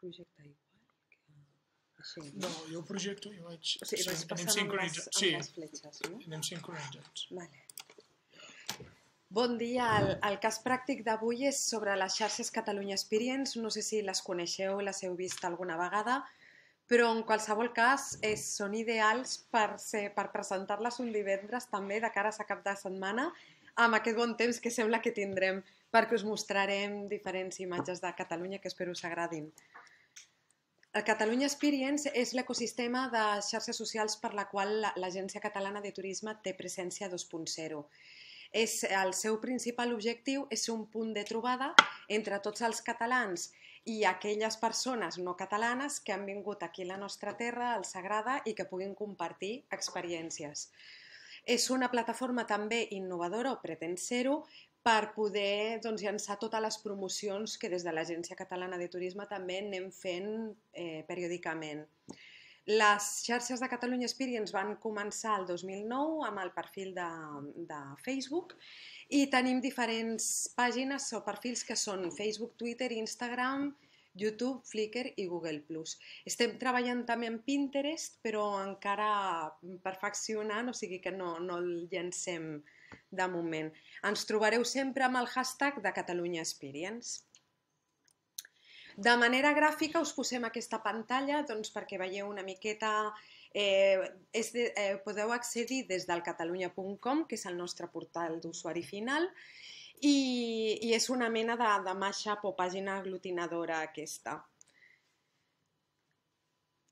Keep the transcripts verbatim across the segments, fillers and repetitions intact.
projectar igual que així, no? No, jo ho projecto i vaig... O sigui, vaig passant amb les, amb les fletxes, no? Sí, anem sincronitzats. Vale. Bon dia, el, el cas pràctic d'avui és sobre les xarxes Catalunya Experience, no sé si les coneixeu, les heu vist alguna vegada, però en qualsevol cas és, són ideals per, ser, per presentar-les un divendres també de cara a cap de setmana amb aquest bon temps que sembla que tindrem perquè us mostrarem diferents imatges de Catalunya que espero us agradin. El Catalunya Experience és l'ecosistema de xarxes socials per la qual l'Agència Catalana de Turisme té presència dos punt zero. És, el seu principal objectiu és un punt de trobada entre tots els catalans i aquelles persones no catalanes que han vingut aquí a la nostra terra, al Sagrada, i que puguin compartir experiències. És una plataforma també innovadora, o pretén ser-ho, per poder doncs, llançar totes les promocions que des de l'Agència Catalana de Turisme també anem fent eh, periòdicament. Les xarxes de Catalunya Experience van començar el dos mil nou amb el perfil de, de Facebook i tenim diferents pàgines o perfils que són Facebook, Twitter, Instagram, YouTube, Flickr i Google plus. Estem treballant també en Pinterest, però encara perfeccionant, o sigui que no, no el llancem de moment. Ens trobareu sempre amb el hashtag de Catalunya Experience. De manera gràfica us posem aquesta pantalla doncs, perquè veieu una miqueta, eh, és de, eh, podeu accedir des del catalunya punt com, que és el nostre portal d'usuari final, i, i és una mena de, de mashup o pàgina aglutinadora aquesta.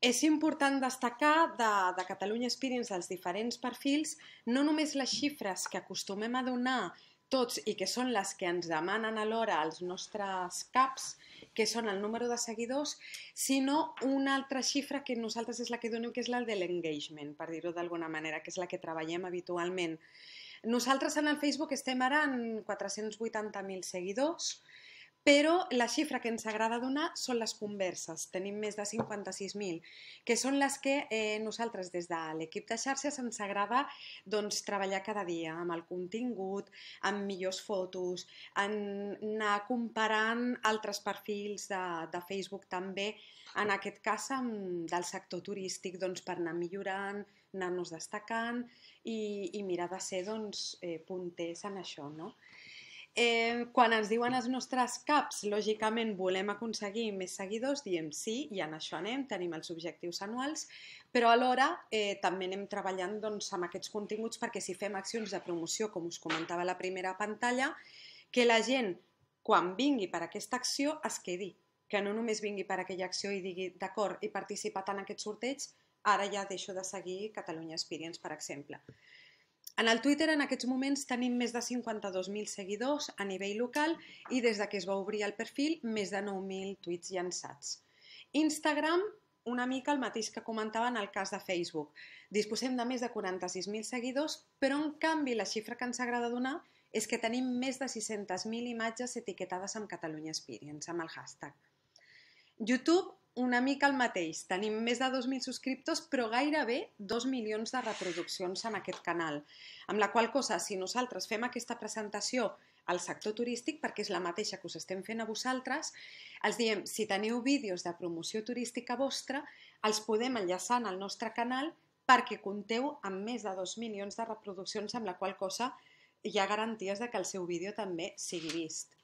És important destacar de, de Catalunya Experience els diferents perfils, no només les xifres que acostumem a donar tots i que són les que ens demanen alhora els nostres caps, que són el número de seguidors, sinó una altra xifra que nosaltres és la que donem, que és la de l'engagement, per dir-ho d'alguna manera, que és la que treballem habitualment. Nosaltres en el Facebook estem ara en quatre-cents vuitanta mil seguidors, però la xifra que ens agrada donar són les converses. Tenim més de cinquanta-sis mil, que són les que eh, nosaltres des de l'equip de xarxes ens agrada doncs, treballar cada dia amb el contingut, amb millors fotos, en anar comparant altres perfils de, de Facebook també, en aquest cas amb, del sector turístic, doncs, per anar millorant, anar-nos destacant i, i mirar de ser doncs, eh, punters en això, no? Eh, quan ens diuen els nostres caps, lògicament volem aconseguir més seguidors, diem sí, i en això anem, tenim els objectius anuals, però alhora eh, també anem treballant doncs, amb aquests continguts perquè si fem accions de promoció, com us comentava a la primera pantalla, que la gent, quan vingui per aquesta acció, es quedi, que no només vingui per aquella acció i digui, d'acord, he participat en aquest sorteig, ara ja deixo de seguir Catalunya Experience, per exemple. En el Twitter en aquests moments tenim més de cinquanta-dos mil seguidors a nivell local i des que es va obrir el perfil més de nou mil tuits llançats. Instagram, una mica el mateix que comentava en el cas de Facebook. Disposem de més de quaranta-sis mil seguidors, però en canvi la xifra que ens agrada donar és que tenim més de sis-centes mil imatges etiquetades amb Catalunya Experience, amb el hashtag. YouTube, una mica el mateix. Tenim més de dos mil subscriptors, però gairebé dos milions de reproduccions en aquest canal. Amb la qual cosa, si nosaltres fem aquesta presentació al sector turístic, perquè és la mateixa que us estem fent a vosaltres, els diem, si teniu vídeos de promoció turística vostra, els podem enllaçar en el nostre canal perquè compteu amb més de dos milions de reproduccions, amb la qual cosa hi ha garanties de que el seu vídeo també sigui vist.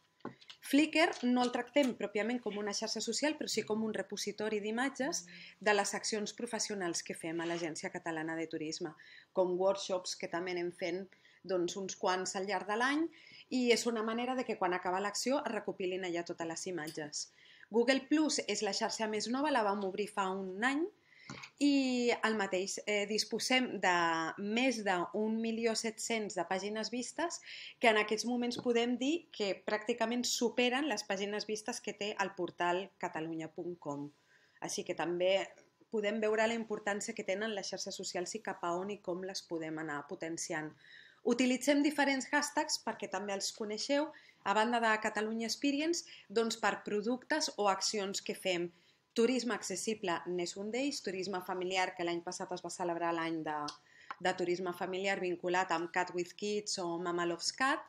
Flickr no el tractem pròpiament com una xarxa social, però sí com un repositori d'imatges de les accions professionals que fem a l'Agència Catalana de Turisme, com workshops que també anem fent doncs, uns quants al llarg de l'any i és una manera de que quan acaba l'acció es recopilin allà totes les imatges. Google plus és la xarxa més nova, la vam obrir fa un any i el mateix, eh, disposem de més d'un milió set-cents de pàgines vistes que en aquests moments podem dir que pràcticament superen les pàgines vistes que té el portal catalunya punt com. Així que també podem veure la importància que tenen les xarxes socials i cap a on i com les podem anar potenciant. Utilitzem diferents hashtags perquè també els coneixeu, a banda de Catalunya Experience, doncs per productes o accions que fem. Turisme accessible n'és un d'ells, turisme familiar, que l'any passat es va celebrar l'any de, de turisme familiar vinculat amb Cat with Kids o Mama Loves Cat,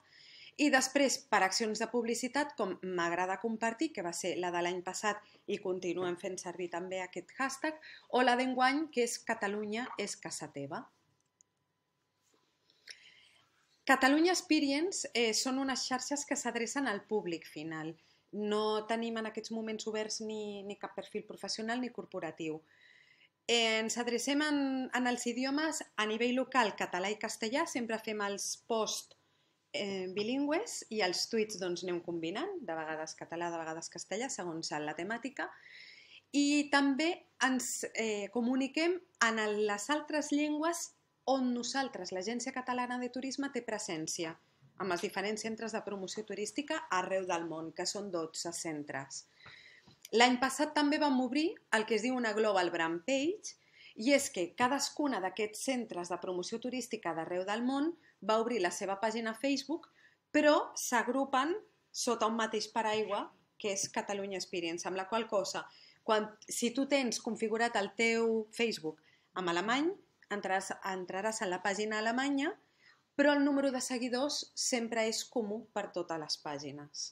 I després, per accions de publicitat, com m'agrada compartir, que va ser la de l'any passat i continuem fent servir també aquest hashtag, o la d'enguany, que és Catalunya és casa teva. Catalunya Experience eh, són unes xarxes que s'adrecen al públic final. No tenim en aquests moments oberts ni, ni cap perfil professional ni corporatiu. Eh, ens adrecem en, en els idiomes a nivell local, català i castellà, sempre fem els posts eh, bilingües i els tuits doncs, anem combinant, de vegades català, de vegades castellà, segons la temàtica. I també ens eh, comuniquem en les altres llengües on nosaltres, l'Agència Catalana de Turisme, té presència, amb els diferents centres de promoció turística arreu del món, que són dotze centres. L'any passat també vam obrir el que es diu una Global Brand Page, i és que cadascuna d'aquests centres de promoció turística d'arreu del món va obrir la seva pàgina Facebook, però s'agrupen sota un mateix paraigua, que és Catalunya Experience, amb la qual cosa, quan, si tu tens configurat el teu Facebook en alemany, entraràs, entraràs a la pàgina alemanya, però el número de seguidors sempre és comú per totes les pàgines.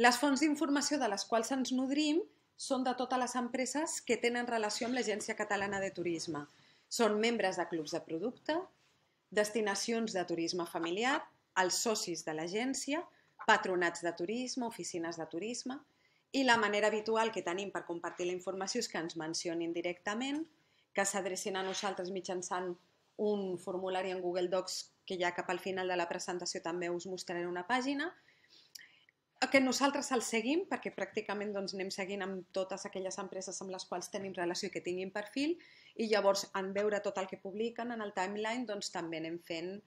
Les fonts d'informació de les quals ens nodrim són de totes les empreses que tenen relació amb l'Agència Catalana de Turisme. Són membres de clubs de producte, destinacions de turisme familiar, els socis de l'agència, patronats de turisme, oficines de turisme, i la manera habitual que tenim per compartir la informació és que ens mencionin directament, que s'adrecin a nosaltres mitjançant un formulari en Google Docs que ja cap al final de la presentació també us mostraré una pàgina, que nosaltres el seguim perquè pràcticament doncs, anem seguint amb totes aquelles empreses amb les quals tenim relació i que tinguin perfil, i llavors en veure tot el que publiquen en el timeline doncs, també anem fent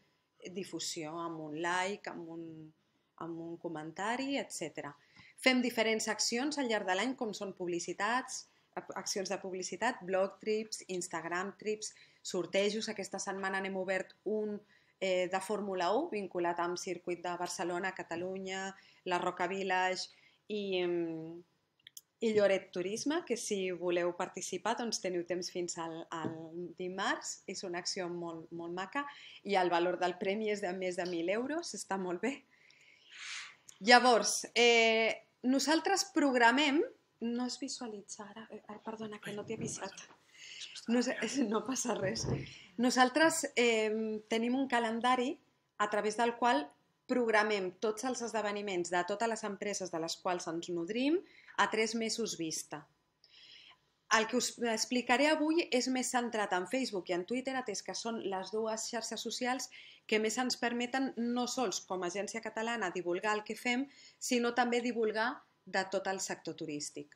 difusió amb un like, amb un, amb un comentari, etcètera. Fem diferents accions al llarg de l'any com són publicitats, accions de publicitat, blog trips, Instagram trips, sortejos. Aquesta setmana n'hem obert un eh, de Fórmula u vinculat amb circuit de Barcelona, Catalunya, la Roca Village i, i Lloret Turisme, que si voleu participar doncs teniu temps fins al, al dimarts. És una acció molt, molt maca i el valor del premi és de més de mil euros, està molt bé. Llavors, eh, nosaltres programem. No es visualitza ara, perdona que no t'he avisat, no, no passa res. Nosaltres eh, tenim un calendari a través del qual programem tots els esdeveniments de totes les empreses de les quals ens nodrim a tres mesos vista. El que us explicaré avui és més centrat en Facebook i en Twitter, atès que són les dues xarxes socials que més ens permeten no sols com a agència catalana divulgar el que fem, sinó també divulgar de tot el sector turístic.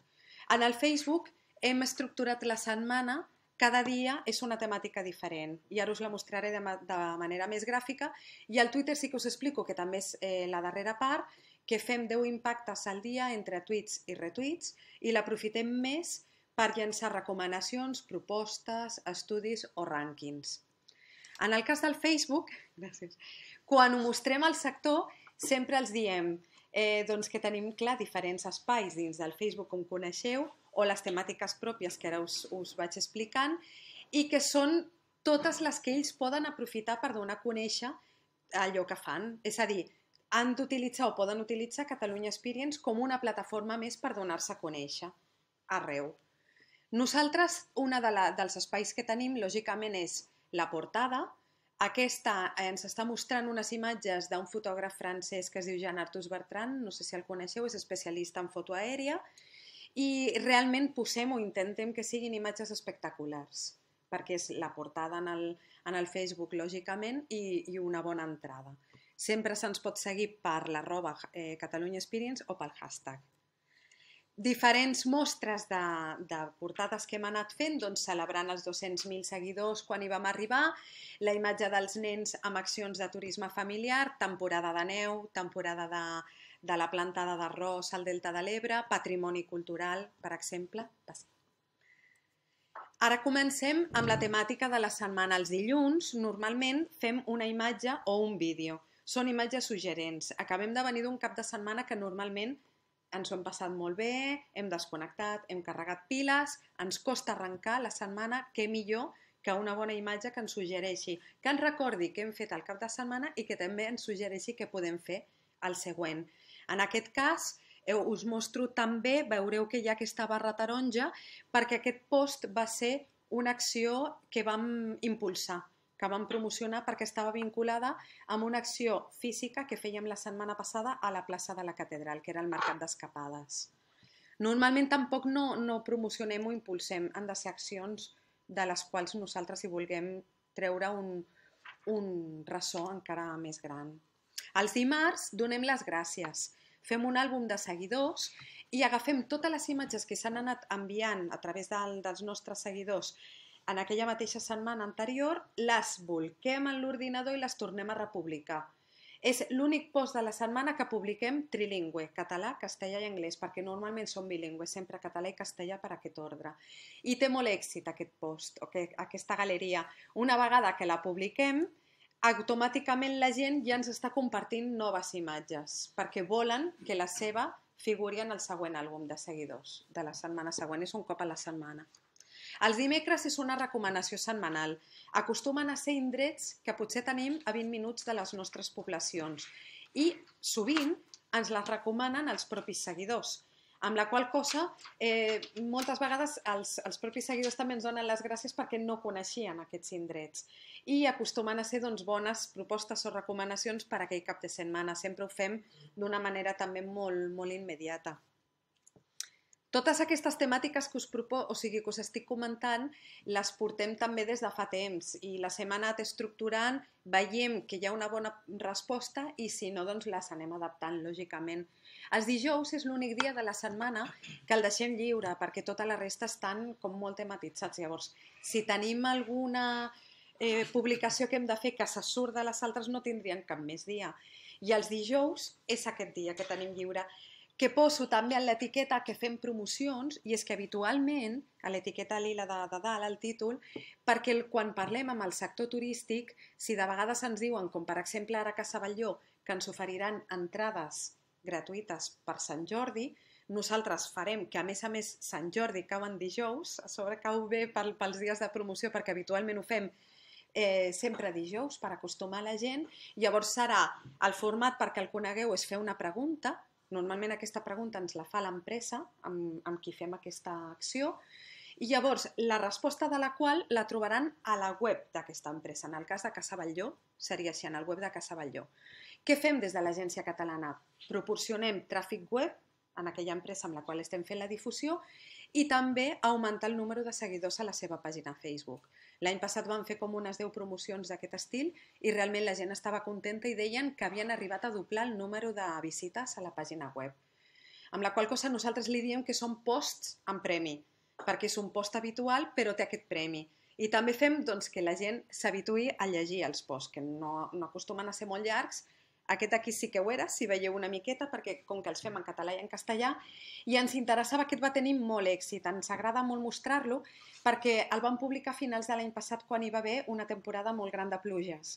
En el Facebook hem estructurat la setmana, cada dia és una temàtica diferent i ara us la mostraré de, ma de manera més gràfica, i al Twitter sí que us explico, que també és eh, la darrera part, que fem deu impactes al dia entre tuits i retuits i l'aprofitem més per llançar recomanacions, propostes, estudis o rànquings. En el cas del Facebook, gràcies, quan ho mostrem al sector sempre els diem Eh, doncs que tenim clar diferents espais dins del Facebook, com coneixeu, o les temàtiques pròpies que ara us, us vaig explicant, i que són totes les que ells poden aprofitar per donar a conèixer allò que fan. És a dir, han d'utilitzar o poden utilitzar Catalunya Experience com una plataforma més per donar-se a conèixer arreu. Nosaltres, un de la, dels espais que tenim, lògicament, és la portada. Aquesta ens està mostrant unes imatges d'un fotògraf francès que es diu Jean-Arthus Bertrand, no sé si el coneixeu, és especialista en foto aèria, i realment posem o intentem que siguin imatges espectaculars, perquè és la portada en el, en el Facebook, lògicament, i, i una bona entrada. Sempre se'ns pot seguir per l'arroba eh, Catalunya Experience o pel hashtag. Diferents mostres de, de portades que hem anat fent, doncs, celebrant els dos-cents mil seguidors quan hi vam arribar, la imatge dels nens amb accions de turisme familiar, temporada de neu, temporada de, de la plantada d'arròs al Delta de l'Ebre, patrimoni cultural, per exemple. Ara comencem amb la temàtica de la setmana. Els dilluns normalment fem una imatge o un vídeo. Són imatges suggerents. Acabem de venir d'un cap de setmana que normalment ens ho hem passat molt bé, hem desconnectat, hem carregat piles, ens costa arrencar la setmana, què millor que una bona imatge que ens suggereixi, que ens recordi què hem fet al cap de setmana i que també ens suggereixi què podem fer al següent. En aquest cas, us mostro també, veureu que hi ha aquesta barra taronja, perquè aquest post va ser una acció que vam impulsar, que vam promocionar perquè estava vinculada amb una acció física que fèiem la setmana passada a la plaça de la Catedral, que era el Mercat d'Escapades. Normalment tampoc no, no promocionem o impulsem, han de ser accions de les quals nosaltres hi vulguem treure un, un ressò encara més gran. Els dimarts donem les gràcies, fem un àlbum de seguidors i agafem totes les imatges que s'han anat enviant a través del, dels nostres seguidors en aquella mateixa setmana anterior, les bolquem en l'ordinador i les tornem a republicar. És l'únic post de la setmana que publiquem trilingüe, català, castellà i anglès, perquè normalment som bilingües, sempre català i castellà per aquest ordre. I té molt èxit aquest post, o que, aquesta galeria. Una vegada que la publiquem, automàticament la gent ja ens està compartint noves imatges, perquè volen que la seva figuri en el següent àlbum de seguidors de la setmana següent, és un cop a la setmana. Els dimecres és una recomanació setmanal. Acostumen a ser indrets que potser tenim a vint minuts de les nostres poblacions i sovint ens les recomanen els propis seguidors, amb la qual cosa eh, moltes vegades els, els propis seguidors també ens donen les gràcies perquè no coneixien aquests indrets i acostumen a ser doncs, bones propostes o recomanacions per a aquell cap de setmana. Sempre ho fem d'una manera també molt, molt immediata. Totes aquestes temàtiques que us, propo, o sigui, que us estic comentant les portem també des de fa temps i les hem anat estructurant, veiem que hi ha una bona resposta i si no, doncs les anem adaptant, lògicament. Els dijous és l'únic dia de la setmana que el deixem lliure perquè tota la resta estan com molt tematitzats. Llavors, si tenim alguna eh, publicació que hem de fer que se surt de les altres no tindrien cap més dia. I els dijous és aquest dia que tenim lliure, que poso també en l'etiqueta que fem promocions, i és que habitualment, a l'etiqueta lila de, de dalt, al títol, perquè el, quan parlem amb el sector turístic, si de vegades ens diuen, com per exemple ara a Casa Batlló, que ens oferiran entrades gratuïtes per Sant Jordi, nosaltres farem que a més a més Sant Jordi cau en dijous, a sobre cau bé pel, pels dies de promoció perquè habitualment ho fem eh, sempre dijous per acostumar la gent, llavors serà el format perquè el conegueu és fer una pregunta. Normalment aquesta pregunta ens la fa l'empresa amb, amb qui fem aquesta acció i llavors la resposta de la qual la trobaran a la web d'aquesta empresa. En el cas de Casa Batlló seria així, en el web de Casa Batlló. Què fem des de l'Agència Catalana? Proporcionem tràfic web en aquella empresa amb la qual estem fent la difusió i també augmentar el número de seguidors a la seva pàgina Facebook. L'any passat vam fer com unes deu promocions d'aquest estil i realment la gent estava contenta i deien que havien arribat a doblar el número de visites a la pàgina web. Amb la qual cosa nosaltres li diem que són posts amb premi, perquè és un post habitual però té aquest premi. I també fem doncs, que la gent s'habituï a llegir els posts, que no, no acostumen a ser molt llargs. Aquest aquí sí que ho era, si veieu una miqueta, perquè com que els fem en català i en castellà, i ens interessava, aquest va tenir molt èxit, ens agrada molt mostrar-lo, perquè el vam publicar a finals de l'any passat quan hi va haver una temporada molt gran de pluges.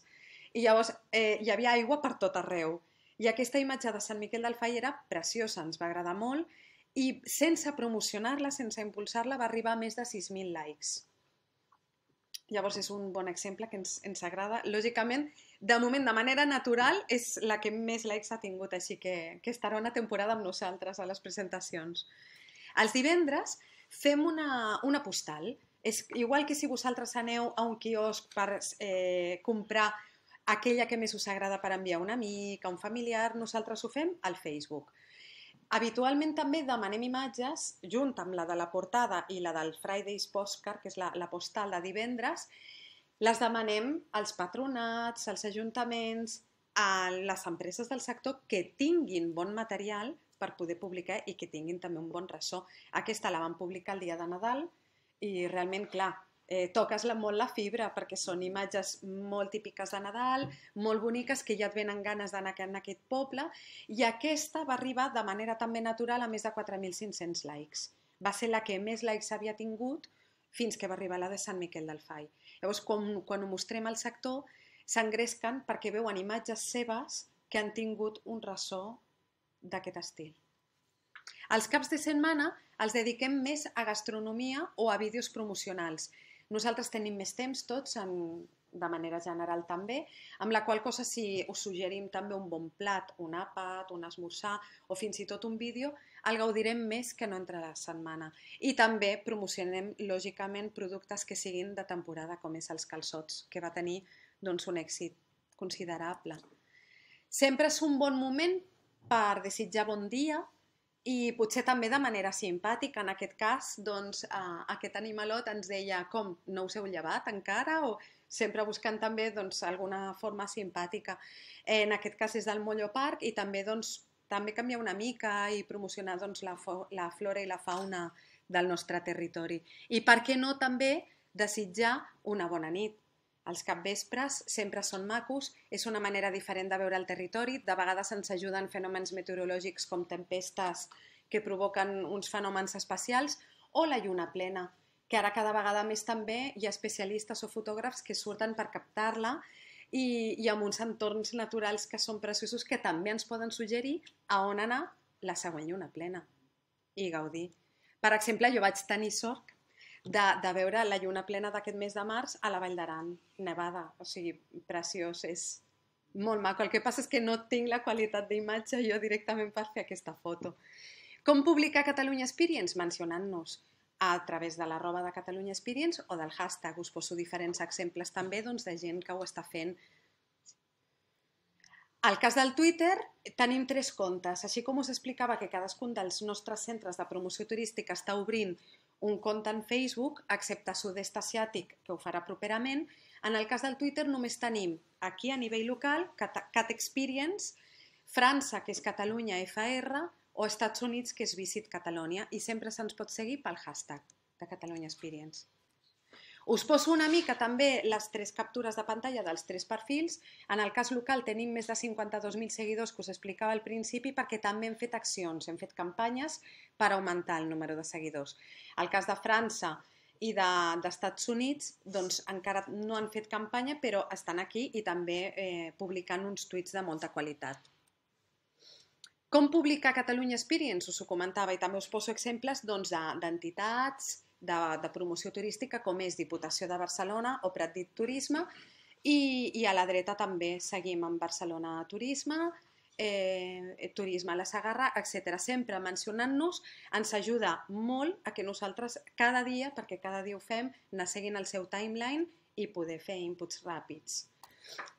I llavors eh, hi havia aigua per tot arreu. I aquesta imatge de Sant Miquel del Fai era preciosa, ens va agradar molt, i sense promocionar-la, sense impulsar-la, va arribar a més de sis mil likes. Llavors és un bon exemple que ens, ens agrada. Lògicament, de moment, de manera natural, és la que més likes ha tingut, així que, que estarà una temporada amb nosaltres a les presentacions. Els divendres fem una, una postal. És igual que si vosaltres aneu a un quiosc per eh, comprar aquella que més us agrada per enviar a un amic, a un familiar, nosaltres ho fem al Facebook. Habitualment també demanem imatges, junt amb la de la portada i la del Friday's Postcard, que és la, la postal de divendres, les demanem als patronats, als ajuntaments, a les empreses del sector que tinguin bon material per poder publicar i que tinguin també un bon ressò. Aquesta la vam publicar el dia de Nadal i realment, clar, eh, toques molt la fibra perquè són imatges molt típiques de Nadal, molt boniques, que ja et venen ganes d'anar en aquest poble, i aquesta va arribar de manera també natural a més de quatre mil cinc-cents likes. Va ser la que més likes havia tingut fins que va arribar la de Sant Miquel del Fai. Llavors, quan, quan ho mostrem al sector, s'engresquen perquè veuen imatges seves que han tingut un ressò d'aquest estil. Els caps de setmana els dediquem més a gastronomia o a vídeos promocionals. Nosaltres tenim més temps tots, en, de manera general també, amb la qual cosa si us suggerim també un bon plat, un àpat, un esmorzar o fins i tot un vídeo, el gaudirem més que no entre la setmana. I també promocionem, lògicament, productes que siguin de temporada, com és els calçots, que va tenir doncs, un èxit considerable. Sempre és un bon moment per desitjar bon dia i potser també de manera simpàtica. En aquest cas, doncs, eh, aquest animalot ens deia com, no us heu llevat encara? O sempre buscant també doncs, alguna forma simpàtica. Eh, en aquest cas és del Mollo Park i també, doncs, també canviar una mica i promocionar doncs, la, la flora i la fauna del nostre territori. I per què no també desitjar una bona nit? Els capvespres sempre són macos, és una manera diferent de veure el territori, de vegades ens ajuden fenòmens meteorològics com tempestes que provoquen uns fenòmens especials, o la lluna plena, que ara cada vegada més també hi ha especialistes o fotògrafs que surten per captar-la i, i amb uns entorns naturals que són preciosos que també ens poden suggerir a on anar la següent lluna plena i gaudir. Per exemple, jo vaig tenir sort De, de veure la lluna plena d'aquest mes de març a la Vall d'Aran, nevada, o sigui, preciós, és molt maco. El que passa és que no tinc la qualitat d'imatge jo directament per fer aquesta foto. Com publicar Catalunya Experience? Mencionant-nos a través de l'arroba de Catalunya Experience o del hashtag. Us poso diferents exemples també doncs, de gent que ho està fent. Al cas del Twitter tenim tres comptes, així com us explicava que cadascun dels nostres centres de promoció turística està obrint un compte en Facebook, excepte Sud-est Asiàtic, que ho farà properament. En el cas del Twitter només tenim aquí a nivell local Cat Experience, França, que és Catalunya F R, o Estats Units, que és Visit Catalonia, i sempre se'ns pot seguir pel hashtag de Catalunya Experience. Us poso una mica també les tres captures de pantalla dels tres perfils. En el cas local tenim més de cinquanta-dos mil seguidors que us explicava al principi perquè també hem fet accions, hem fet campanyes per augmentar el número de seguidors. El cas de França i d'Estats de, Units doncs encara no han fet campanya però estan aquí i també eh, publicant uns tuits de molta qualitat. Com publicar Catalunya Experience? Us ho comentava i també us poso exemples doncs, d'entitats, De, de promoció turística com és Diputació de Barcelona o Pratdip Turisme i, i a la dreta també seguim amb Barcelona Turisme, eh, Turisme a la Segarra, etcètera. Sempre mencionant-nos ens ajuda molt a que nosaltres cada dia, perquè cada dia ho fem, anar seguint el seu timeline i poder fer inputs ràpids.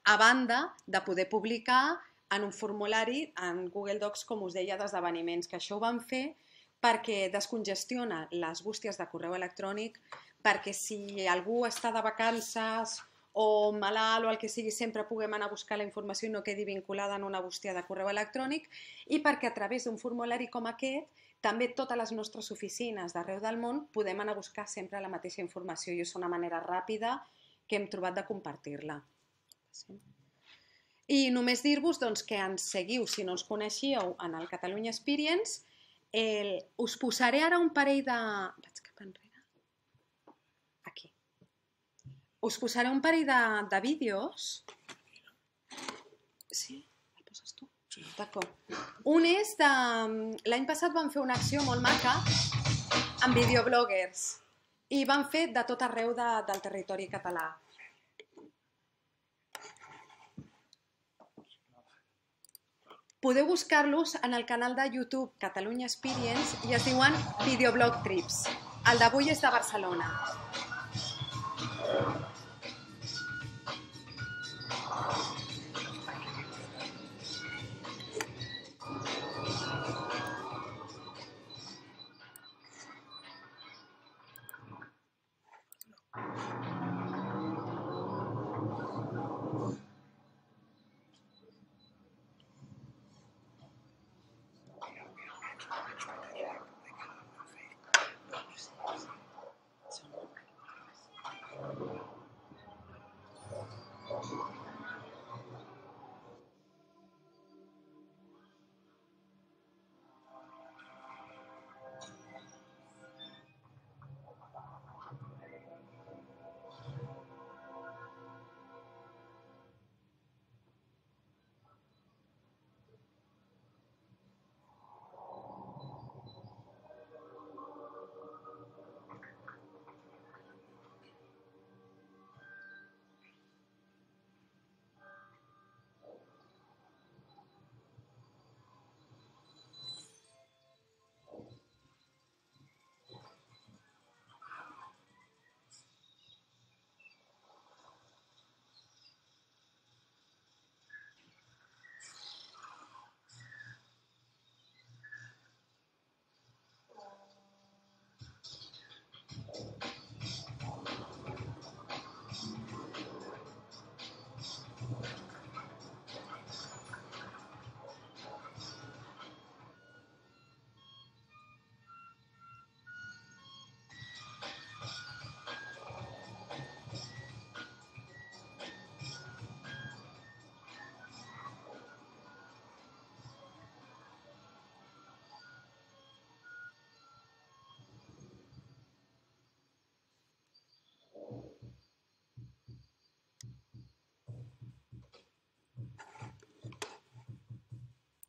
A banda de poder publicar en un formulari en Google Docs, com us deia, d'esdeveniments, que això ho vam fer perquè descongestiona les bústies de correu electrònic, perquè si algú està de vacances o malalt o el que sigui, sempre puguem anar a buscar la informació i no quedi vinculada en una bústia de correu electrònic, i perquè a través d'un formulari com aquest, també totes les nostres oficines d'arreu del món podem anar a buscar sempre la mateixa informació i és una manera ràpida que hem trobat de compartir-la. I només dir-vos doncs, que ens seguiu, si no ens coneixíeu, en el Catalunya Experience. El, us posaré ara un parell de... Vaig cap enrere. Aquí. Us posaré un parell de, de vídeos. Sí? El poses tu? Sí. D'acord. Un és de... L'any passat vam fer una acció molt maca amb videobloggers i vam fer de tot arreu de, del territori català. Podeu buscar-los en el canal de YouTube Catalunya Experience i es diuen Videoblog Trips. El d'avui és de Barcelona.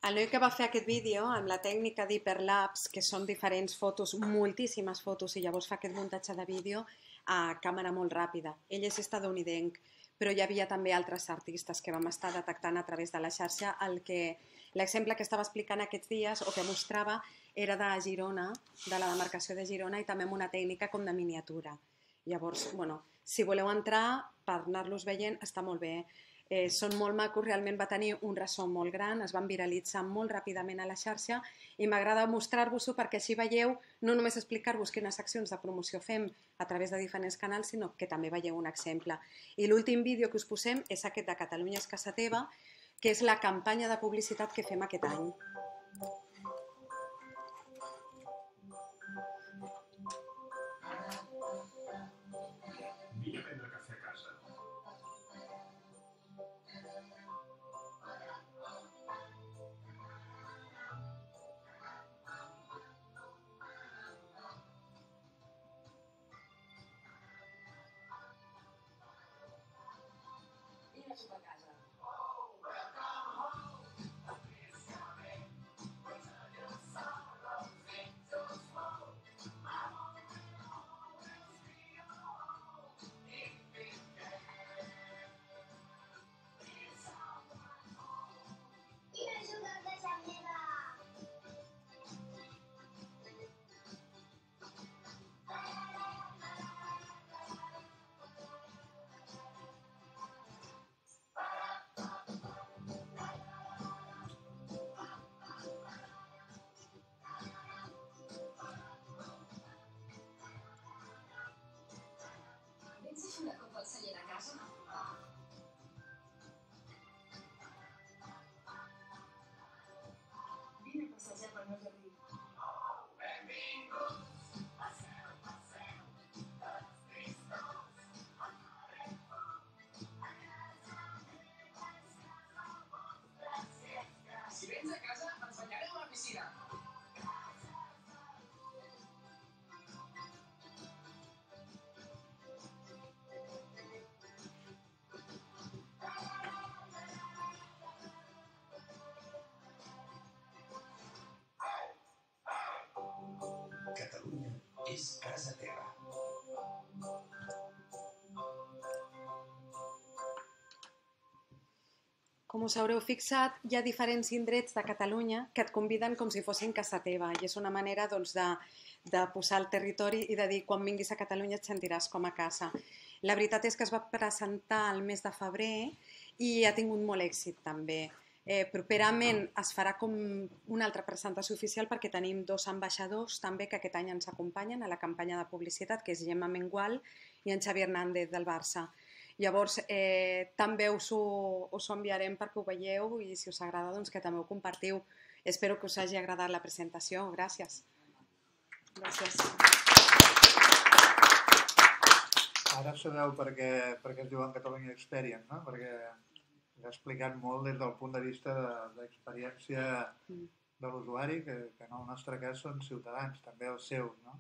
El noi que va fer aquest vídeo amb la tècnica d'hiperlapse, que són diferents fotos, moltíssimes fotos, i llavors fa aquest muntatge de vídeo a càmera molt ràpida. Ell és estadounidenc, però hi havia també altres artistes que vam estar detectant a través de la xarxa. L'exemple que estava explicant aquests dies o que mostrava era de Girona, de la demarcació de Girona, i també amb una tècnica com de miniatura. Llavors, bueno, si voleu entrar per anar-los veient, està molt bé. Eh, són molt macos, realment va tenir un ressò molt gran, es van viralitzar molt ràpidament a la xarxa i m'agrada mostrar-vos-ho perquè així veieu, no només explicar-vos quines accions de promoció fem a través de diferents canals, sinó que també veieu un exemple. I l'últim vídeo que us posem és aquest de Catalunya és casa teva, que és la campanya de publicitat que fem aquest any. Vine a prendre cafè a casa. Vine a sopar a casa. Vens a fer una copa al celler de casa? Vine a passejar pel meu jardí. Si vens a casa, ens banyarem a la piscina. Catalunya és casa teva. Com us haureu fixat, hi ha diferents indrets de Catalunya que et conviden com si fossin casa teva i és una manera doncs, de, de posar el territori i de dir quan vinguis a Catalunya et sentiràs com a casa. La veritat és que es va presentar el mes de febrer i ha tingut molt èxit també. Eh, properament es farà com una altra presentació oficial perquè tenim dos ambaixadors també que aquest any ens acompanyen a la campanya de publicitat, que és Gemma Mengual i en Xavi Hernández del Barça. Llavors, eh, també us ho, us ho enviarem perquè ho veieu i si us agrada doncs, que també ho compartiu. Espero que us hagi agradat la presentació. Gràcies. Gràcies. Ara sabeu per què, per què es diuen Catalunya Experience, no? Perquè ha explicat molt des del punt de vista d'experiència de, de l'usuari, que, que en el nostre cas són ciutadans, també els seus, no?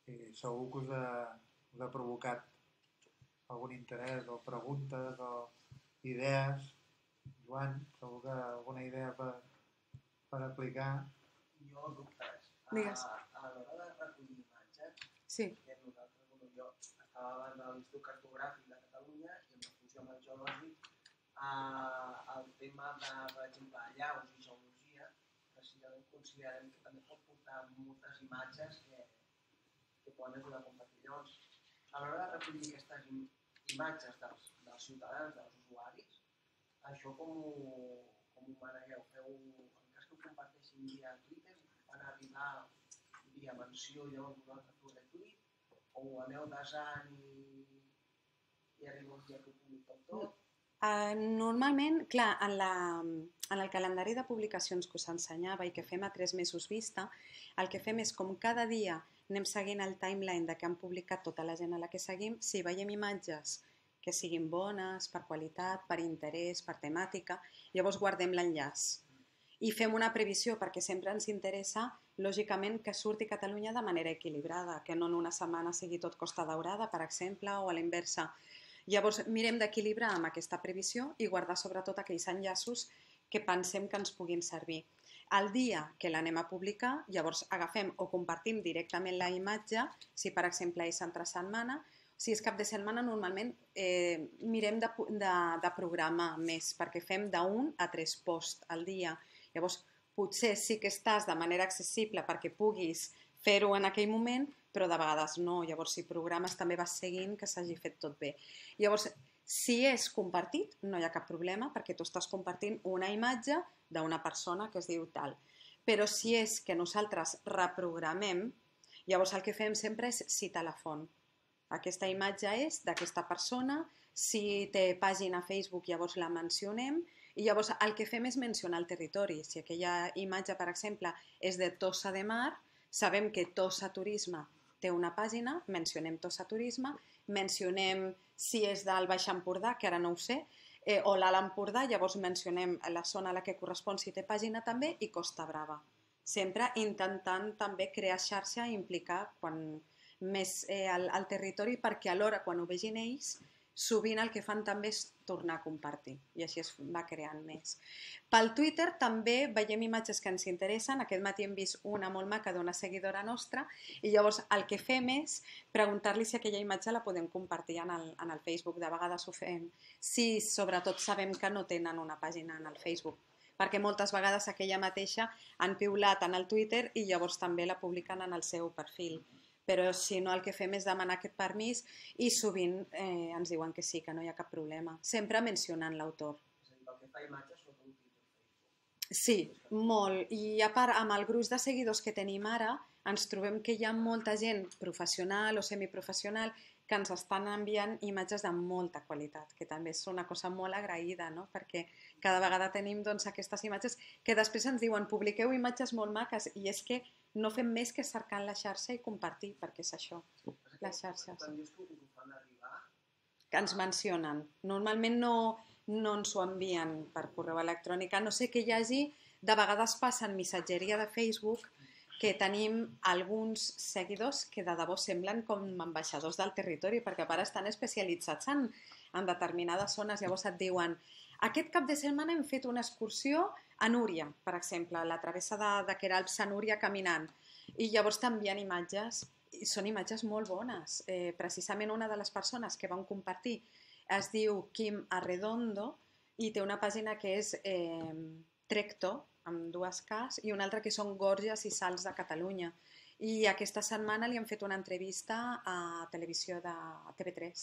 I segur que us ha, us ha provocat algun interès o preguntes o idees. Joan, segur que alguna idea per, per aplicar? Jo, dubtes. Digues. A, a l'hora de recollir imatges, Sí. que nosaltres, bueno, jo estava abans a l'Institut Cartogràfic de Catalunya i en funció amb el geològic, eh, el tema de, per exemple, allaus i geologia, precisament considerem que també pot portar moltes imatges que, que poden ajudar a compartir. Llavors, a l'hora de recollir aquestes im imatges dels, dels ciutadans, dels usuaris, això com ho, com ho manegueu? Feu, en cas que ho comparteixin via Twitter, van arribar via menció i llavors vosaltres feu retweet, o ho aneu desant i, i arriba un dia que ho publiqueu tot? Uh, normalment, clar, en, la, en el calendari de publicacions que us ensenyava i que fem a tres mesos vista, el que fem és com cada dia anem seguint el timeline de què han publicat tota la gent a la que seguim, si veiem imatges que siguin bones, per qualitat, per interès, per temàtica, llavors guardem l'enllaç. I fem una previsió perquè sempre ens interessa, lògicament, que surti Catalunya de manera equilibrada, que no en una setmana sigui tot Costa Daurada, per exemple, o a la inversa. Llavors mirem d'equilibrar amb aquesta previsió i guardar sobretot aquells enllaços que pensem que ens puguin servir. El dia que l'anem a publicar, llavors agafem o compartim directament la imatge, si per exemple és entre setmana. Si és cap de setmana, normalment eh, mirem de, de, de programar més, perquè fem d'un a tres posts al dia. Llavors, potser sí que estàs de manera accessible perquè puguis fer-ho en aquell moment, però de vegades no. Llavors, si programes també vas seguint que s'hagi fet tot bé. Llavors, si és compartit, no hi ha cap problema, perquè tu estàs compartint una imatge d'una persona que es diu tal. Però si és que nosaltres reprogramem, llavors el que fem sempre és citar la font. Aquesta imatge és d'aquesta persona, si té pàgina a Facebook llavors la mencionem i llavors el que fem és mencionar el territori. Si aquella imatge, per exemple, és de Tossa de Mar, sabem que Tossa Turisme té una pàgina, mencionem Tossa Turisme, mencionem si és del Baix Empordà, que ara no ho sé, eh, o l'Alt Empordà, llavors mencionem la zona a la que correspon si té pàgina també i Costa Brava. Sempre intentant també crear xarxa i implicar quan més eh, al, al territori, perquè alhora quan ho vegin ells sovint el que fan també és tornar a compartir i així es va creant més. Pel Twitter també veiem imatges que ens interessen. Aquest matí hem vist una molt maca d'una seguidora nostra i llavors el que fem és preguntar-li si aquella imatge la podem compartir en el, en el Facebook. De vegades ho fem si sobretot sabem que no tenen una pàgina en el Facebook, perquè moltes vegades aquella mateixa han piulat en el Twitter i llavors també la publiquen en el seu perfil. Però si no el que fem és demanar aquest permís i sovint eh, ens diuen que sí, que no hi ha cap problema, sempre mencionant l'autor. És a dir, pel que fa a imatges, són un Twitter, Facebook. Sí, molt. I a part, amb el gruix de seguidors que tenim ara, ens trobem que hi ha molta gent professional o semiprofessional que ens estan enviant imatges de molta qualitat, que també és una cosa molt agraïda, no? Perquè cada vegada tenim doncs, aquestes imatges que després ens diuen publiqueu imatges molt maques i és que no fem més que cercar en la xarxa i compartir, perquè és això, les xarxes. Quan dius que us ho fan arribar... Que ens mencionen. Normalment no, no ens ho envien per correu electrònic, a no sé que hi hagi, de vegades passa en missatgeria de Facebook, que tenim alguns seguidors que de debò semblen com ambaixadors del territori, perquè a part estan especialitzats en, en determinades zones. Llavors et diuen, aquest cap de setmana hem fet una excursió a Núria, per exemple, la travessa de, de Queralbs a Núria caminant, i llavors t'envien imatges, i són imatges molt bones. Eh, precisament una de les persones que van compartir es diu Quim Arredondo i té una pàgina que és eh, Trecto, amb dues Ks, i una altra que són Gorges i Salts de Catalunya. I aquesta setmana li han fet una entrevista a televisió de T V tres,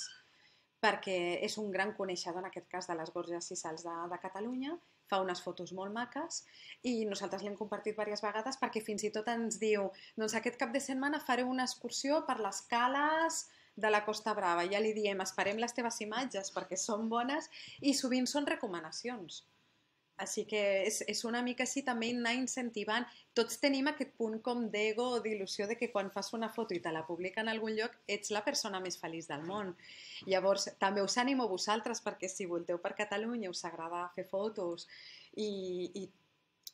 perquè és un gran coneixedor, en aquest cas, de les Gorges i Salts de, de Catalunya, fa unes fotos molt maques i nosaltres l'hem compartit diverses vegades perquè fins i tot ens diu, doncs aquest cap de setmana faré una excursió per les cales de la Costa Brava. Ja li diem, esperem les teves imatges perquè són bones i sovint són recomanacions. Així que és, és una mica així també anar incentivant. Tots tenim aquest punt com d'ego o d'il·lusió de que quan fas una foto i te la publica en algun lloc ets la persona més feliç del món. Llavors també us animo a vosaltres perquè si volteu per Catalunya, us agrada fer fotos i, i,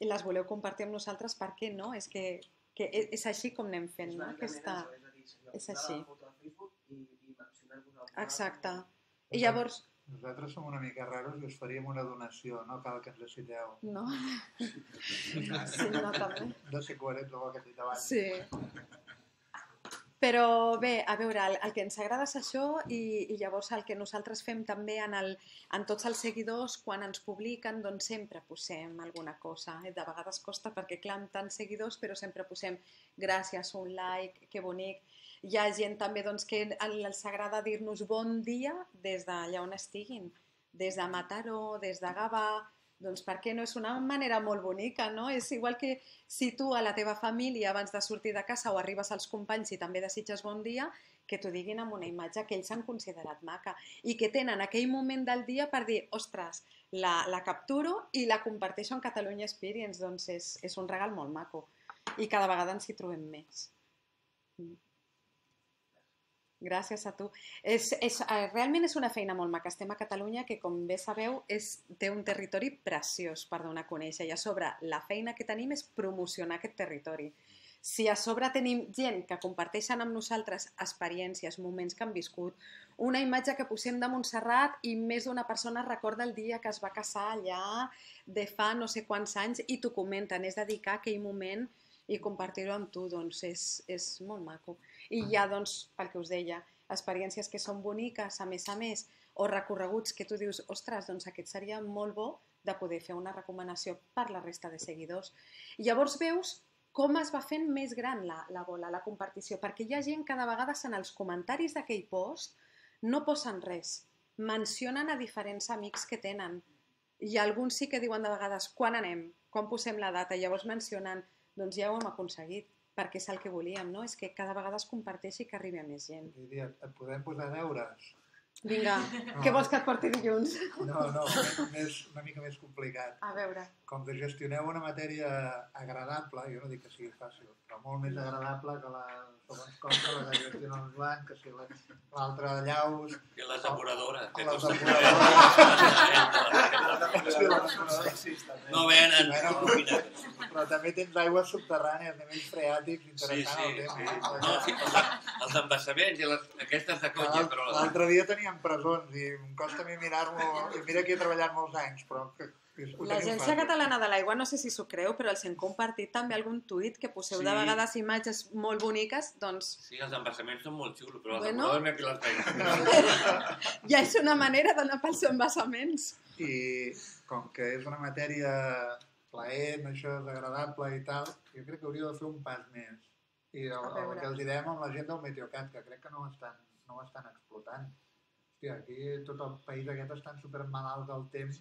i les voleu compartir amb nosaltres, per què no? És que, que és així com anem fent, no? Aquesta... És així. Exacte. I llavors... Nosaltres som una mica raros i us faríem una donació, no cal que ens necessiteu. No? Sí, no, també. De ser coherents amb el que he dit abans. Sí. Però bé, a veure, el, el que ens agrada és això i, i llavors el que nosaltres fem també en, el, en tots els seguidors, quan ens publiquen, doncs sempre posem alguna cosa. De vegades costa perquè, clar, amb tants seguidors, però sempre posem gràcies, un like, que bonic. Hi ha gent també doncs, que els agrada dir-nos bon dia des d'allà on estiguin, des de Mataró, des de Gavà, doncs per què no? És una manera molt bonica, no? És igual que si tu a la teva família abans de sortir de casa o arribes als companys i també desitges bon dia, que t'ho diguin amb una imatge que ells han considerat maca i que tenen aquell moment del dia per dir, ostres, la, la capturo i la comparteixo en Catalunya Experience, doncs és, és un regal molt maco i cada vegada ens hi trobem més. Gràcies a tu. És, és, realment és una feina molt maca. Estem a Catalunya, que com bé sabeu és, té un territori preciós per donar a conèixer i a sobre la feina que tenim és promocionar aquest territori. si a sobre tenim gent que comparteixen amb nosaltres experiències, moments que han viscut, una imatge que posem de Montserrat i més d'una persona recorda el dia que es va casar allà de fa no sé quants anys i t'ho comenten, és dedicar aquell moment i compartir-ho amb tu, doncs és, és molt maco. I hi ha, doncs, pel que us deia, experiències que són boniques, a més a més, o recorreguts que tu dius, ostres, doncs aquest seria molt bo de poder fer una recomanació per la resta de seguidors. I llavors veus com es va fent més gran la, la bola, la compartició, perquè hi ha gent que de vegades en els comentaris d'aquell post no posen res, mencionen a diferents amics que tenen, i alguns sí que diuen de vegades quan anem, quan posem la data, llavors mencionen, doncs ja ho hem aconseguit, perquè és el que volíem, no? És que cada vegada es comparteixi i que arribi a més gent. Diria, et podem posar deures? Vinga, no. Què vols que et porti dilluns? No, no, més, una mica més complicat. A veure. Com que gestioneu una matèria agradable, jo no dic que sigui fàcil, però molt més agradable que la segons com que la que gestiona el Joan, que si l'altre de Llaus... Que les depuradores. Que les depuradores. No venen. Però també tens aigües subterrànies, nivells freàtics, interessant el tema. Els embassaments i aquestes de cotxe, però... L'altre dia teníem presons i em costa a mi mirar-m'ho, i mira que he treballat molts anys, però... L'Agència Catalana de l'Aigua, no sé si s'ho creu, però els hem compartit també algun tuit que poseu de vegades imatges molt boniques, doncs... Sí, els embassaments són molt xulos, però els depuradors m'he pilat feina. Ja és una manera d'anar pels embassaments. I com que és una matèria plaent, això és agradable i tal, jo crec que hauria de fer un pas més. I el, el que els direm amb la gent del Meteocat, que crec que no ho estan, no ho estan explotant. Hòstia, aquí tot el país aquest estan supermalalts del temps.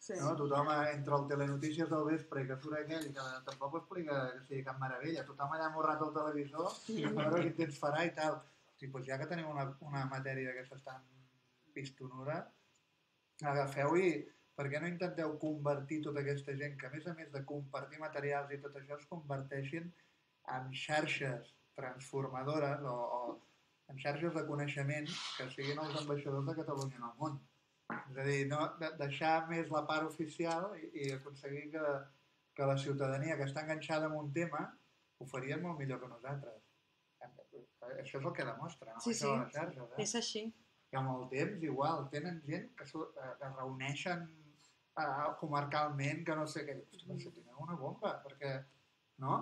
Sí. No? Tothom entre el telenotícies del vespre que surt aquell, que tampoc ho explica que sigui cap meravella, tothom allà morrat al televisor i a veure quin temps farà i tal. Sí, doncs ja que teniu una, una matèria d'aquestes tan pistonura, agafeu i per què no intenteu convertir tota aquesta gent que a més a més de compartir materials i tot això es converteixin en xarxes transformadores o, o en xarxes de coneixement que siguin els ambaixadors de Catalunya en el món. És a dir, no, de, deixar més la part oficial i, i aconseguir que, que la ciutadania que està enganxada en un tema ho farien molt millor que nosaltres. Això és el que demostra, no? Sí, sí, les xarxes, eh? És així. I amb el temps, igual, tenen gent que, que es reuneixen uh, comarcalment, que no sé què. Hosti, però si teniu una bomba, perquè, no?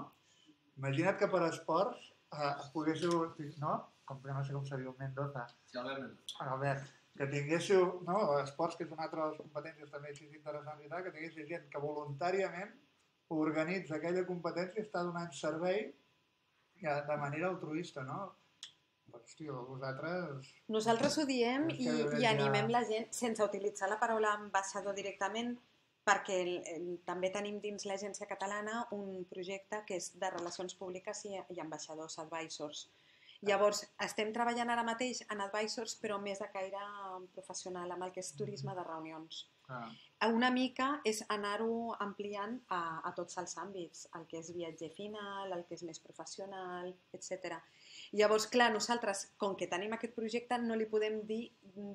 Imagina't que per esports uh, poguéssiu, no? Com que no sé com seria un Mendoza. Sí, Albert Mendoza. Albert. Que tinguéssiu, no, esports, que és una altra de les competències també així interessants i tal, que tinguéssiu gent que voluntàriament organitza aquella competència i està donant servei de manera altruista, no? Doncs, tio, vosaltres... Nosaltres ho diem i, i animem la gent sense utilitzar la paraula ambaixador directament, perquè el, el, també tenim dins l'Agència Catalana un projecte que és de relacions públiques i, i ambaixadors, advisors. Llavors, estem treballant ara mateix en advisors, però més de caire professional, amb el que és turisme de reunions. Ah. Una mica és anar-ho ampliant a, a tots els àmbits, el que és viatger final, el que és més professional, etcètera. Llavors, clar, nosaltres, com que tenim aquest projecte, no li podem dir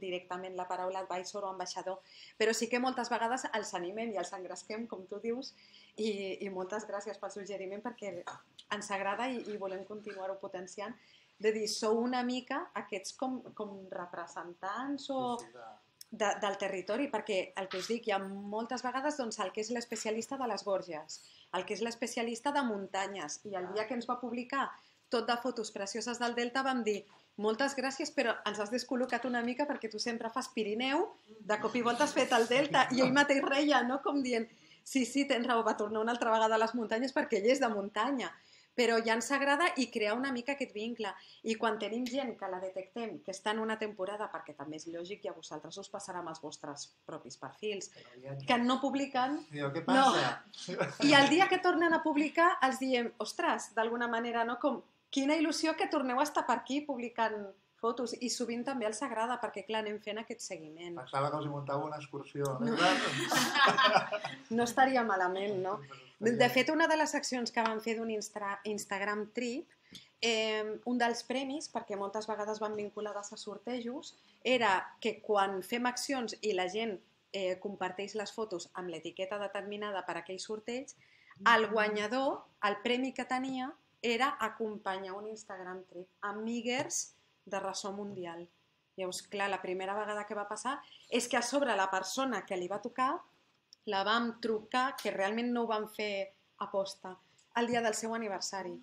directament la paraula advisor o ambaixador, però sí que moltes vegades els animem i els engresquem, com tu dius, i, i moltes gràcies pel suggeriment perquè ens agrada i, i volem continuar-ho potenciant, de dir, sou una mica aquests com, com representants o de, del territori, perquè el que us dic, hi ha moltes vegades doncs, el que és l'especialista de les Borges, el que és l'especialista de muntanyes, i el dia que ens va publicar tot de fotos precioses del Delta vam dir, moltes gràcies, però ens has descol·locat una mica perquè tu sempre fas Pirineu, de cop i volta has fet el Delta, i ell mateix reia, no? Com dient, sí, sí, tens raó, va tornar una altra vegada a les muntanyes perquè ell és de muntanya. Però ja ens agrada i crear una mica aquest vincle. I quan tenim gent que la detectem, que està en una temporada, perquè també és lògic i a vosaltres us passarà amb els vostres propis perfils, que no publiquen... Què passa? No. I el dia que tornen a publicar els diem, ostres, d'alguna manera, no? Com, quina il·lusió que torneu a estar per aquí publicant fotos. I sovint també els agrada, perquè clar, anem fent aquest seguiment. Pensava que els hi muntava una excursió. No, no estaria malament, no? De fet, una de les accions que vam fer d'un Instagram Trip, eh, un dels premis, perquè moltes vegades van vinculades a sortejos, era que quan fem accions i la gent eh, comparteix les fotos amb l'etiqueta determinada per a aquell sorteig, el guanyador, el premi que tenia, era acompanyar un Instagram trip a amigues de ressò mundial. Llavors, clar, la primera vegada que va passar és que a sobre la persona que li va tocar la vam trucar, que realment no ho vam fer aposta, el dia del seu aniversari.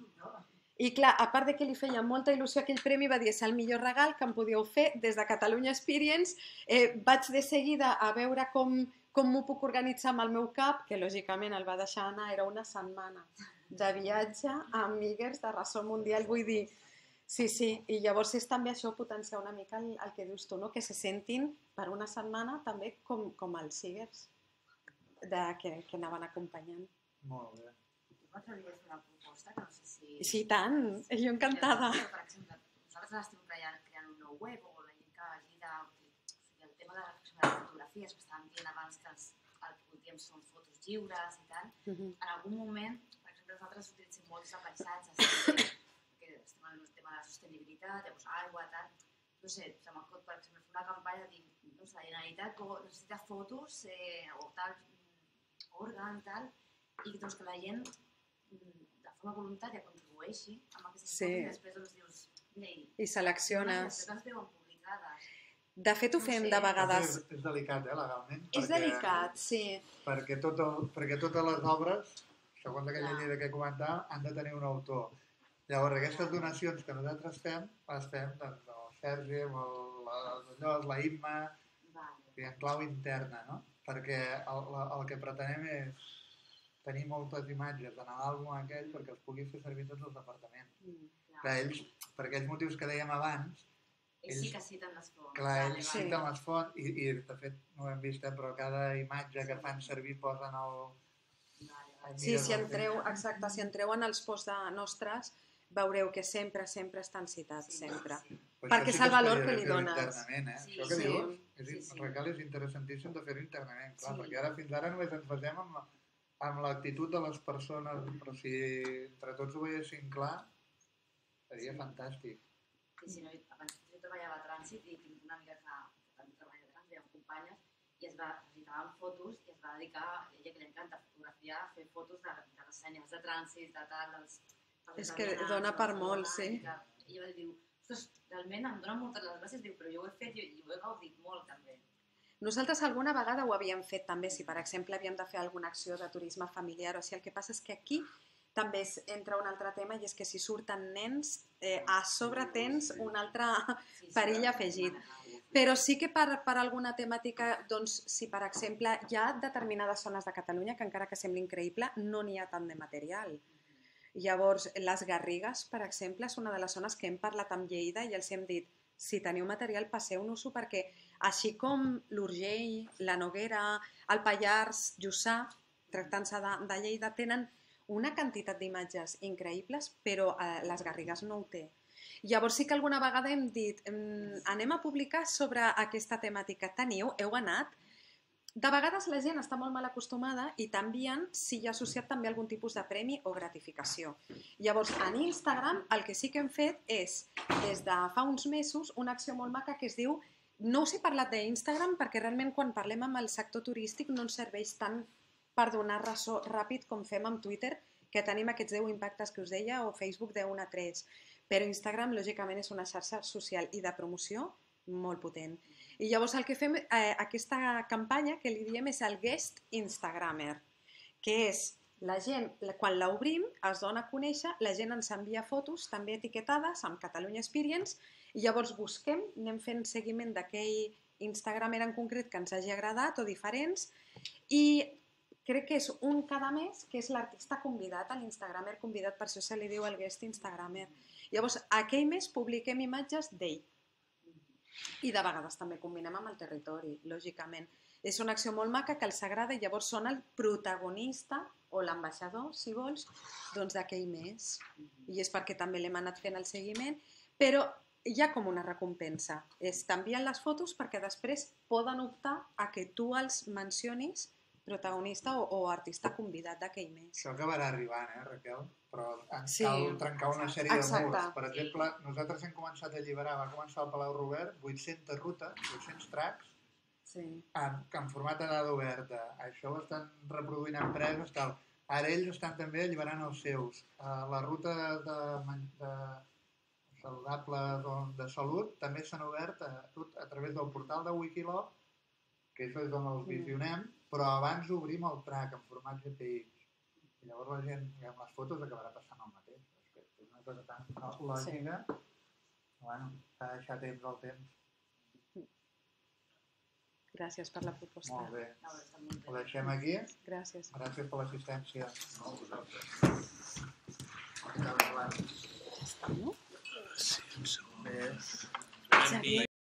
I clar, a part de que li feia molta il·lusió aquell premi, va dir és el millor regal que em podíeu fer des de Catalunya Experience. Eh, vaig de seguida a veure com, com m'ho puc organitzar amb el meu cap, que lògicament el va deixar anar, era una setmana de viatge a amigues de ressò mundial, vull dir, sí, sí, i llavors és també això potenciar una mica el, el que dius tu, no? Que se sentin per una setmana també com, com els siguers de, que, que anaven acompanyant. Molt bé. M'atreviria a fer una proposta, que no sé si... Sí, tant, jo encantada. Per exemple, nosaltres estem creant, creant un nou web, o la gent que hagi de... O sigui, el tema de la reflexió de les fotografies, que estàvem dient abans que els, el que voldríem són fotos lliures i tal, Uh-huh. en algun moment, per exemple, nosaltres utilitzem molts de paisatges, que, que estem en el tema de la sostenibilitat, llavors aigua, tal... No sé, se m'acot, per exemple, fer una campanya de dir, no sé, la Generalitat necessita fotos eh, o tal, òrgan, tal, i doncs que la gent de forma voluntària contribueixi amb aquestes Sí. fotos i després doncs dius, mira, i I selecciones. després les veuen publicades. De fet, ho No fem sé. de vegades. És, és delicat, eh, legalment. És perquè- delicat, sí. Perquè, tot el, perquè totes les obres, segons aquella Clar. llei que comentàvem, han de tenir un autor. Llavors, aquestes donacions que nosaltres fem, les fem doncs, el Sergi, amb el, allò, la Imma, Vale. i en clau interna, no? Perquè el, la- el que pretenem és tenir moltes imatges en l'àlbum aquell perquè els pugui fer servir tots els departaments. Mm. Clar. Clar, ells, per aquells motius que dèiem abans, Ells sí ells- que citen les fonts. clar, Vale, ells Sí. citen les fonts i, i de fet no ho hem vist, eh, però cada imatge que fan servir posen el... Vale, vale. el Sí, mires si el entreu, temps. exacte, si entreu en els posts de nostres, veureu que sempre, sempre estan citats, Sí, sempre. sí. Pues perquè això és sí el valor estaria que bé li fer-ho dones. Internament, eh? Sí, Això que sí. dius, és, Sí, sí. Raquel, és interessantíssim de fer-ho internament, clar, Sí. perquè ara fins ara només ens basem amb, amb l'actitud de les persones, però si entre tots ho veiéssim clar, seria Sí. fantàstic. I si no, abans jo treballava a trànsit i tinc una amiga que, que també treballa a trànsit, amb companyes, i es va, necessitaven fotos i es va dedicar, a ella que li encanta fotografiar, a fer fotos de, de les senyals de trànsit, de tal, dels... dels És que vianants, dona de per la molt, zona, sí. i que ella va dir, ostres, realment em dona moltes les gràcies, diu, però jo ho he fet i, i ho he gaudit molt també. Nosaltres alguna vegada ho havíem fet també, si per exemple havíem de fer alguna acció de turisme familiar o així, el que passa és que aquí també es, entra un altre tema i és que si surten nens, eh, a sobre tens un altre Sí, sí, perill sí, afegit. sí. Però sí que per, per alguna temàtica, doncs, si per exemple hi ha determinades zones de Catalunya que encara que sembli increïble, no n'hi ha tant de material. Llavors, les Garrigues, per exemple, és una de les zones que hem parlat amb Lleida i els hem dit, si teniu material, passeu-nos-ho, perquè així com l'Urgell, la Noguera, el Pallars, Jussà, tractant-se de, de Lleida, tenen una quantitat d'imatges increïbles, però eh, les Garrigues no ho té. Llavors sí que alguna vegada hem dit, anem a publicar sobre aquesta temàtica. Teniu, heu anat? De vegades la gent està molt mal acostumada i t'envien si hi ha associat també algun tipus de premi o gratificació. Llavors, en Instagram el que sí que hem fet és, des de fa uns mesos, una acció molt maca que es diu, no us he parlat d'Instagram perquè realment quan parlem amb el sector turístic no ens serveix tant per donar ressò ràpid com fem amb Twitter, que tenim aquests deu impactes que us deia, o Facebook de un a tres. Però Instagram, lògicament, és una xarxa social i de promoció molt potent. I llavors el que fem, eh, aquesta campanya que li diem és el Guest Instagrammer, que és la gent, quan l'obrim, es dona a conèixer, la gent ens envia fotos també etiquetades amb Catalunya Experience i llavors busquem, anem fent seguiment d'aquell Instagrammer en concret que ens hagi agradat o diferents i crec que és un cada mes que és l'artista convidat, l'Instagrammer convidat, per això se li diu el Guest Instagrammer. Llavors, aquell mes publiquem imatges d'ell. I de vegades també combinem amb el territori, lògicament. És una acció molt maca que els agrada i llavors són el protagonista o l'ambaixador, si vols, doncs d'aquell mes. I és perquè també l'hem anat fent el seguiment, però hi ha com una recompensa. T'envien les fotos perquè després poden optar a que tu els mencionis protagonista o, o artista convidat d'aquell mes. Això acabarà arribant, eh, Raquel? Però ens Sí. cal trencar una sèrie Exacte. de murs. Per exemple, nosaltres hem començat a alliberar, va començar al Palau Robert, vuit-centes rutes, vuit-cents tracks, Sí. en, en format de dada oberta. Això ho estan reproduint empreses, tal. Ara ells estan també alliberant els seus. La ruta de, de saludable de salut també s'han obert a, a través del portal de Wikiloc, que això és on els visionem, però abans obrim el track en format G P X. I llavors la gent, amb les fotos, acabarà passant el mateix. És una cosa tan lògica. Bueno, s'ha de deixar temps al temps. Gràcies per la proposta. Molt bé. Ho deixem aquí. Gràcies. Gràcies per l'assistència. No, vosaltres. Està, no? Sí, un segon. Bé. Xavier.